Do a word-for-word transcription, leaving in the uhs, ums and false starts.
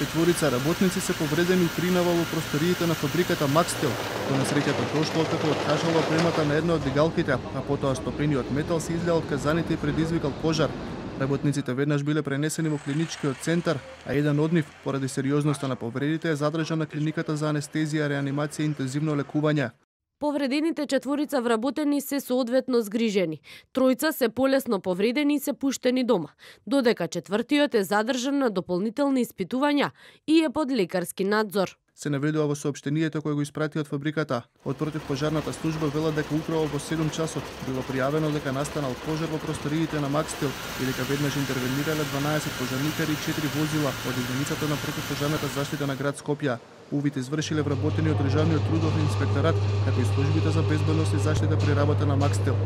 Четворица работници се повредени у принава во просториите на фабриката Макстел. До несреќата дошло откако откажала опремата на една од дигалките, а потоа стопениот метал се излеа од казаните и предизвикал пожар. Работниците веднаш биле пренесени во клиничкиот центар, а еден од нив, поради сериозноста на повредите, е задржан на клиниката за анестезија, реанимација и интензивно лекување. Повредените четворица вработени се соодветно згрижени. Тројца се полесно повредени и се пуштени дома, додека четвртиот е задржан на дополнителни испитувања и е под лекарски надзор. Се наведува во соопштението кое го испрати од фабриката. Од противпожарната служба велат дека управо во седум часот било пријавено дека настанал пожар во просториите на Макстел и дека веднаш интервенирале дванаесет пожарникари и четири возила од единицата на противпожарната заштита на град Скопје. Увид извршиле вработени од Државниот трудов инспекторат, како и службите за безбедност и заштита при работа на Макстел.